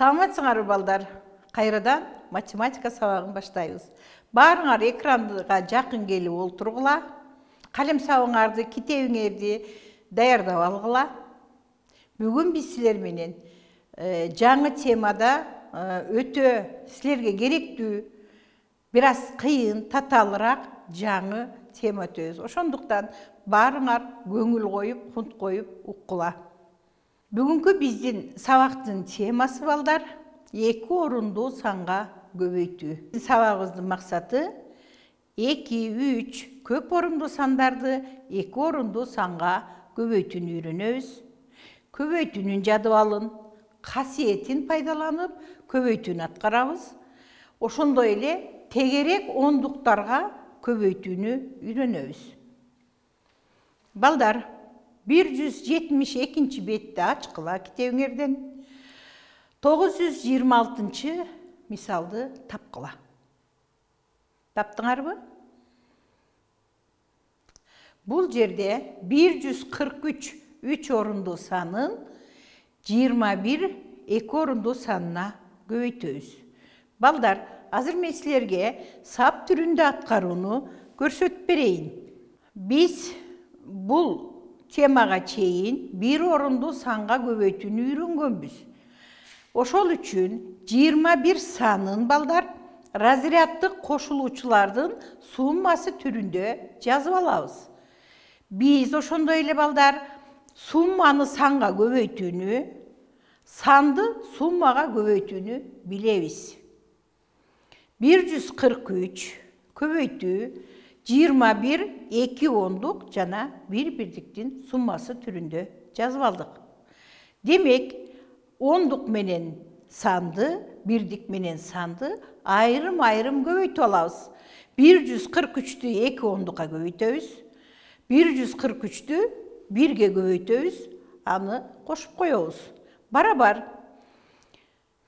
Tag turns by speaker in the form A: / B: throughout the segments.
A: Саламатсыңарбы балдар? Кайрадан математика сабагын баштайбыз. Баарыңар экранга жакын келип олтургула. Калем сабыңарды, китебиңерди даярдап алгыла. Бүгүн биз силер менен жаңы темада өтө силерге керектүү, бир аз кыйын, татаалыраак жаңы тема өтөбүз. Ошондуктан баарыңар көңүл коюп, кунт коюп уккула. Бүгүнкү биздин сабактын темасы балдар 2 орундуу санга көбөйтүү. Сабагыбыздын максаты 2, 3 көп орундуу сандарды 2 орундуу санга көбөйтүүнү үйрөнөбүз. Көбөйтүүнүн жадыбалын, касиетин пайдаланып, көбөйтүүнү аткарабыз. Ошондой эле тегерек ондуктарга көбөйтүүнү үйрөнөбүз. Балдар, 172 бетти ачкыла китебиңерден. 926 мисалды тапкыла. Таптыңарбы? Бул жерде 143 3 орундуу санын 21 2 орундуу санына көбөйтөбүз. Балдар, азыр мен силерге сап түрүндө аткарууну көрсөтүп берейин. Биз бул темага чейин 1 орундуу санга көбөйтүүнү үйрөнгөнбүз. Ошол үчүн 21 санын балдар разряддык кошулуучулардын суммасы түрүндө жазып алабыз. Биз ошондой эле балдар сумманы санга көбөйтүүнү, санды суммага көбөйтүүнү билебиз. 143 көбөйтүү 21 2 ондук жана 1 бирдиктин суммасы түрүндө жазып алдык. Демек, ондук менен санды, бирдик менен санды айрым-айрым көбөйтүп алабыз. 143-тү 2 ондукка көбөйтөбүз. 143-тү 1ге көбөйтөбүз, аны кошуп коебуз. Барабар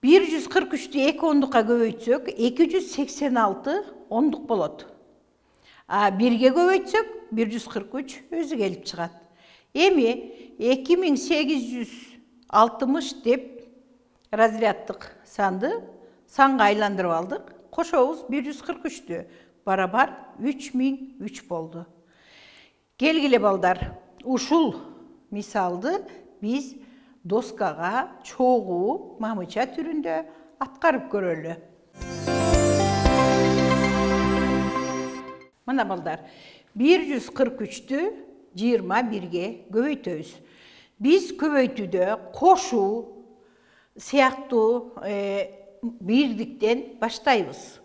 A: 143-тү 2 ондукка көбөйтсөк, 286 ондук болот. А 1ге көбөйтсөк, 143 өзү келип чыгат. Эми 2860 деп разряддык санды санга айландырып алдык. Кошобуз 143-тү. Барабар 3003 болду. Келгиле балдар, ушул мисалды биз доскага чогуу мамыча түрүндө аткарып көрөлү. Мына балдар, 143-тү 21-ге көбөйтөбүз. Биз көбөйтүүдө кошуу сыяктуу бирдиктен баштайбыз.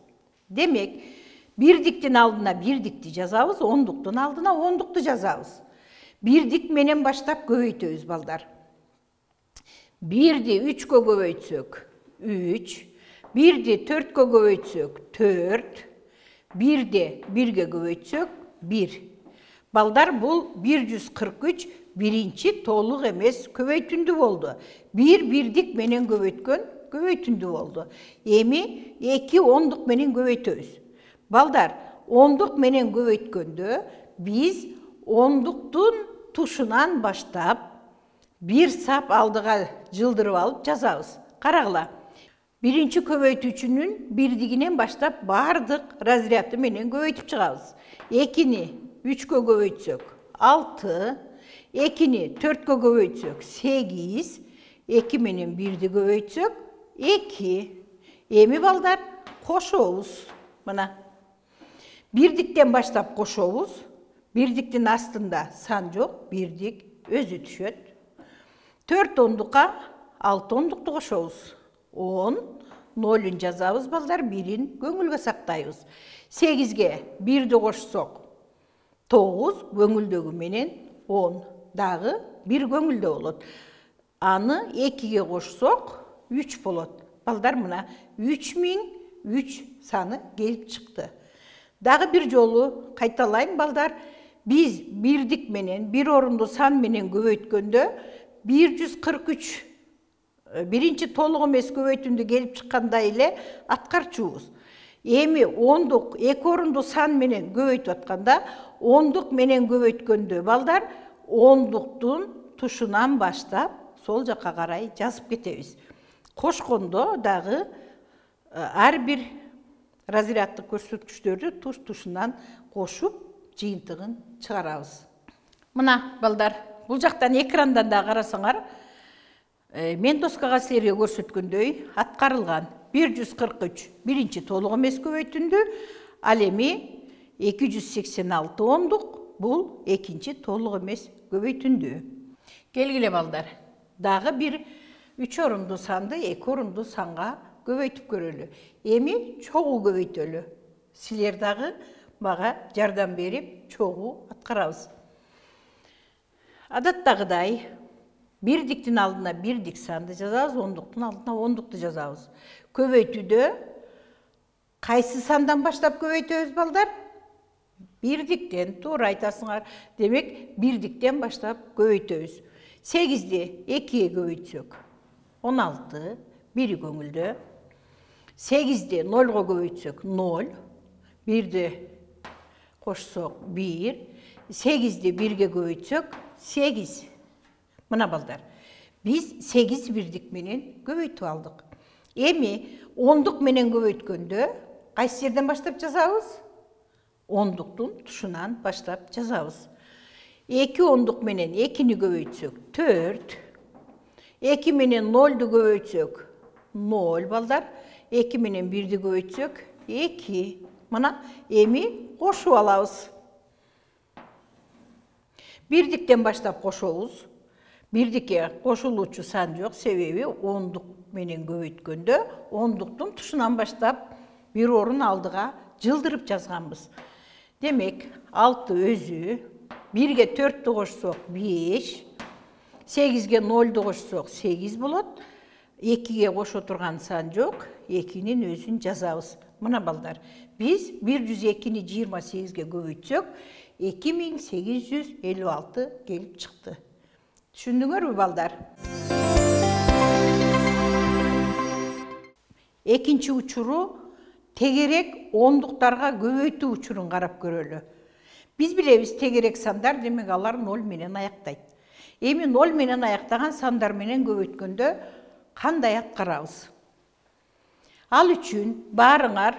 A: Демек, бирдиктин алдына бирдикти жазабыз, ондуктун алдына ондукту жазабыз. Бирдик менен баштап көбөйтөбүз балдар. 1-ди 3-кө көбөйтсөк 3, 1-ди 4-кө көбөйтсөк 4, 1-ди 1-ге көбөйтсөк 1. Балдар, бул 143 биринчи толук эмес көбөйтүндү болду. 1 бирдик менен көбөйткөн көбөйтүндү болду. Эми 2 ондук менен көбөйтөбүз. Балдар, ондук менен көбөйткөндө биз ондуктун тушунан баштап бир сап алдыга жылдырып алып жазабыз. Карагыла. Биринчи көбөйтүүчүнүн бирдигинен баштап бардык разряды менен көбөйтүп чыгабыз. 2-ни 3-кө көбөйтсөк 6, 2-ни 4-кө көбөйтсөк 8, 2 менен 1-ди көбөйтсөк 2. Эми балдар кошобуз. Мына. Бирдиктен баштап кошобуз. Бирдиктин астында сан жок, бирдик өзү түшөт. 4 ондукка 6 ондукту кошобуз. 10, 0-ун жазабыз балдар, 1-ин көңүлгө сактайбыз. 8-ге 1-ди кошсок 9, көңүлдөгү менен 10, дагы 1 көңүлдө болот. Аны 2-ге кошсок 3 болот. Балдар, мына 3003 саны келип чыкты. Дагы бир жолу кайталайм балдар. Биз бирдик менен, 1 орундуу сан менен көбөйткөндө 143 биринчи толук эмес көбөйтүндү келип чыккандай эле аткарчубуз. Эми ондук 2 орундуу сан менен көбөйтүп атканда, ондук менен көбөйткөндө балдар ондуктун тушунан баштап сол жакка карай жазып кетебиз. кошкондо дагы ар бир разряддык көрсөткүчтөрдү туш-тушунан кошуп жыйынтыгын чыгарабыз. Мына балдар, бул жактан экрандан да карасаңар, мен доскага силерге көрсөткөндөй аткарылган 143 биринчи толук эмес көбөйтүндү, ал эми 286 ондук бул экинчи толук эмес көбөйтүндү. Келгиле балдар, дагы бир 3 орунду санды 2 орунду санга көбөйтүп көрөлү. Эми чогуу көбөйтөлү. Силер дагы мага жардам берип чогуу аткарабыз. Адаттагыдай бирдиктин алдына бирдик санды жазабыз, ондуктун алдына ондукту жазабыз. Көбөйтүүдө кайсы сандан баштап көбөйтөбүз балдар? Бирдиктен, туура айтасыңар. Демек, бирдиктен баштап көбөйтөбүз. 8ди 2-ге көбөйтсөк 16, бири көңүлдө. 8ди 0-го көбөйтсөк 0, 1-ди кошсок 1, 8-ди 1-ге көбөйтсөк 8. Мына балдар, биз 8 бирдик менен көбөйтүп алдык. Эми ондук менен көбөйткөндө кайсы жерден баштап жазабыз? Ондуктун тушунан баштап жазабыз. 2 ондук менен 2-ни көбөйтсөк 4, 2 менен 0-ду көбөйтсөк 0 балдар, 2 менен 1-ди көбөйтсөк 2. Мына эми кошуп алабыз. Бирдиктен баштап кошобуз. Бирдикке кошулуучу сан жок, себеби ондук менен көбөйткөндө ондуктун тушунан баштап бир орун алдыга жылдырып жазганбыз. Демек, 6 өзү, 1-ге 4-тү кошсок 5, 8-ге 0-ду кошсок 8 болот. 2-ге кошо турган сан жок, 2-нин өзүн жазабыз. Мына балдар, биз 102-ни 28-ге көбөйтсөк, 2856 келип чыкты. Түшүндүңөрбү балдар? Экинчи учуру тегерек ондуктарга көбөйтүү учурун карап көрөлү. Биз билебиз, тегерек сандар, демек алар 0 менен аяктайт. Эми 0 менен аяктаган сандар менен көбөйткөндө кандай аткарабыз? Ал үчүн баарыңар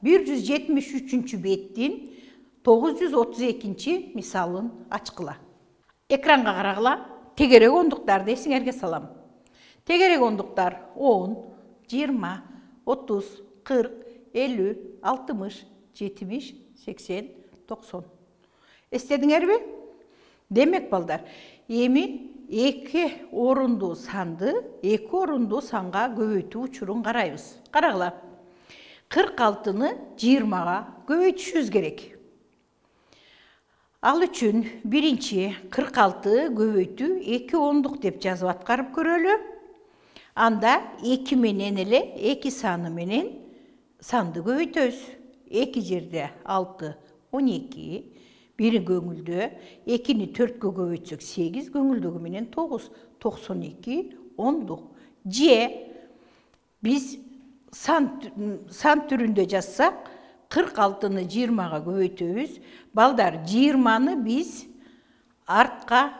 A: 173-чү беттин 932-чи мисалын ачкыла. Экранга карагыла. Тегерек ондуктарды эсиңерге салам. Тегерек ондуктар 10, 20, 30, 40, 50, 60, 70, 80, 90. Эстедиңерби? Демек балдар, эми 2 орунду санды 2 орунду санга көбөйтүү учурун карайбыз. Карагыла. 46-ны 20-га көбөйтүшүбүз керек. Ал үчүн биринчи 46 көбөйтүү 2 ондук деп жазып аткарып көрөлү. Анда 2 менен эле 2 саны менен санды көбөйтөбүз. 2 жерде 6, 12, бири көңүлдө, 2-ни 4-кө көбөйтсөк 8, көңүлдөгү менен 9, 92 ондук. Же биз сан түрүндө жазсак, 46-ны 20-га көбөйтөбүз. Балдар, 20-ны биз артка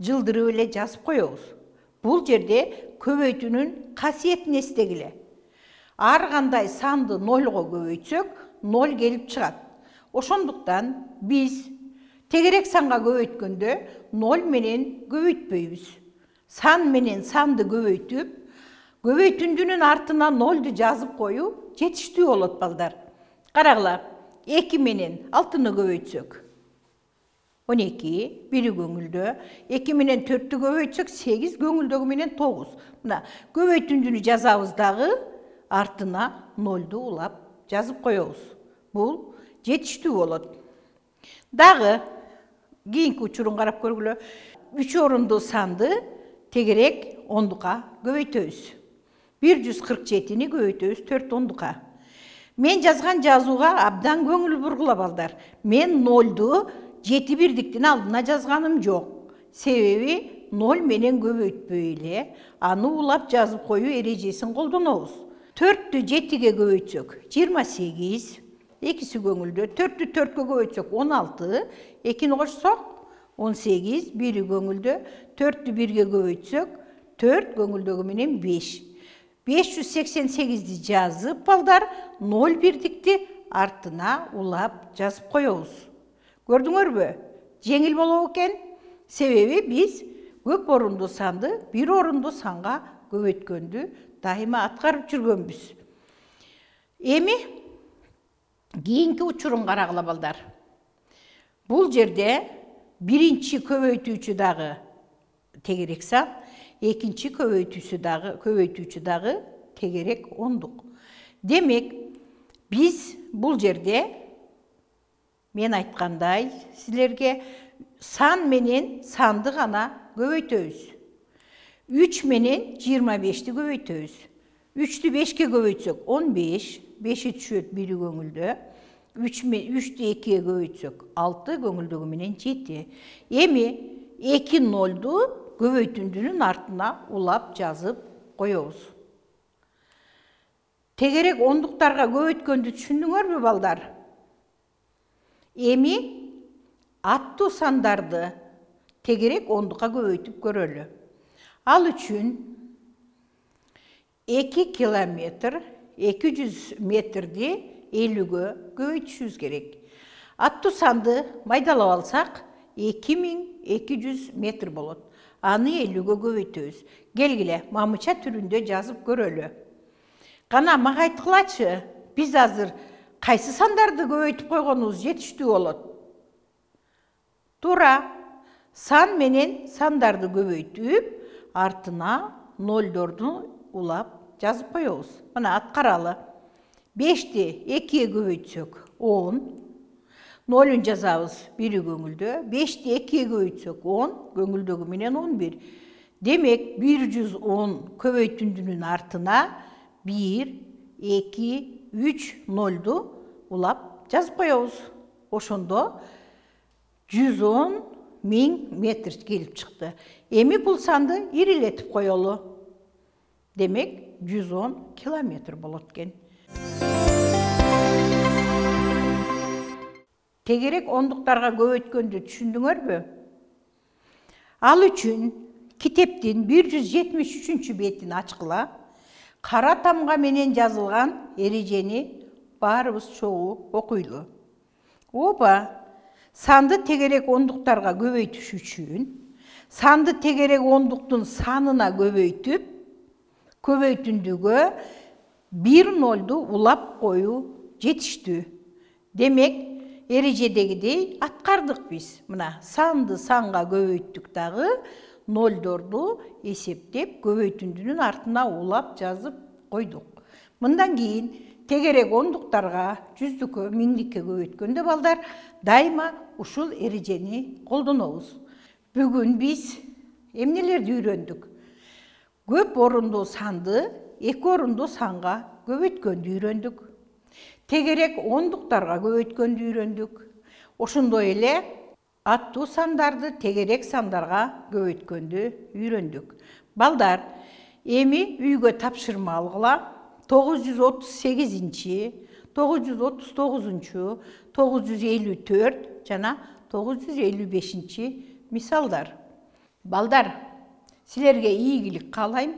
A: жылдырып эле жазып коебуз. Бул жерде көбөйтүүнүн касиетин эстегиле. Ар кандай санды 0-го көбөйтсөк, 0 келип чыгат. Ошондуктан биз тегерек санга көбөйткөндө 0 менен көбөйтпөйбүз. Сан менен санды көбөйтүп, көбөйтүндүнүн артына 0-ду жазып коюу жетиштүү болот балдар. Карагыла, 2 менен 6-ны көбөйтсөк 12, бири көңүлдө, 2 менен 4-тү көбөйтсөк 8, көңүлдөгү менен 9. Мына, көбөйтүндүнү жазабыз дагы, артына 0-ду улап жазып коебуз. Бул жетиштүү болот. Дагы кийинки учурун карап көргүлө. 3 орунду санды тегерек ондукка көбөйтөбүз. 147-ни көбөйтөбүз 4 ондукка. Мен жазган жазууга абдан көңүл бургула балдар. Мен 0-ду 7 бирдиктин алдына жазганым жок. Себеби 0 менен көбөйтпөй эле аны улап жазып коюу эрежесин колдонобуз. 4-тү 7-ге көбөйтсөк 28, 2-си көңүлдө, 4-тү 4-кө көбөйтсөк 16, 2-ни кошсок 18, бири көңүлдө, 4-тү 1-ге көбөйтсөк 4, көңүлдөгү менен 5. 588'di жазып балдар 0,1'dikti артына улап жазып коебуз. Көрдүңөрбү? Жеңил болобу экен? Себеби биз көп орунду санды бир орунду санга көбөйткөндү дайыма аткарып жүргөнбүз. Эми кийинки учурун карагыла балдар. Бул жерде биринчи көбөйтүүчү дагы тегерек сан, экинчи көбөйтүүчү дагы тегерек ондук. Демек, биз бул жерде мен айткандай силерге сан менен санды гана көбөйтөбүз. 3 менен 25-ти көбөйтөбүз. 3-тү 5-ке көбөйтсөк 15, 5 түшөт 1 көңүлдө. 3-тү 2-ге көбөйтсөк 6, көңүлдөгү менен 7. Эми 2 0'ду көбөйтүндүнүн артына улап жазып коебуз. Тегерек ондуктарга көбөйткөндү түшүндүңөрбү балдар? Эми аттуу сандарды тегерек ондукка көбөйтүп көрөлү. Ал үчүн 2 километр 200 метрди 50-ге көбөйтүшүбүз керек. Аттуу санды майдалап алсак 2200 метр болот. Аны 50-ге көбөйтөбүз. Келгиле, мамыча түрүндө жазып көрөлү. Кана мага айткылачы, биз азыр кайсы сандарды көбөйтүп койгонубуз жетиштүү болот? Туура, сан менен сандарды көбөйтүп, артына 0'дорду улап жазып коебуз. Мына аткаралы. 5'ти 2'ге көбөйтсөк 10, 0'ун жазабыз 1 көңүлдө. 5'ти 2'ге көбөйтсөк 10, көңүлдөгү менен 11. Демек, 110 көбөйтүндүнүн артына 1, 2, 3 0'ду улап жазып коебуз. Ошондо 110 000 метр келип чыкты. Эми бул санды ирилетип коелу. Демек, 110 километр болот экен. Тегерек ондуктарга көбөйткөндү түшүндүңөрбү? Ал үчүн китептин 173 бетин ачкыла, кара тамга менен жазылган эрежени баарыбыз чогуу окуйлу. Опа, санды тегерек ондуктарга көбөйтүш үчүн санды тегерек ондуктун санына көбөйтүп, көбөйтүндүгө 1 0'ду улап коюу жетиштүү. Демек, эрежедегидей аткардык биз. Мына санды санга көбөйттүк дагы 0'дорду эсептеп көбөйтүндүнүн артына улап жазып койдук. Мындан кийин тегерек ондуктарга жүздүккө, миңдикке көбөйткөндө балдар дайыма ушул эрежени колдонобуз. Бүгүн биз эмнелерди үйрөндүк? Көп орунду санды 2 орунду санга көбөйткөндү үйрөндүк. Тегерек ондуктарга көбөйткөндү үйрөндүк. Ошондой эле аттуу сандарды тегерек сандарга көбөйткөндү үйрөндүк. Балдар, эми үйгө тапшырма алгыла. 938, 939, 954 жана 955 мисалдар. Балдар, силерге ийгилик каалайм.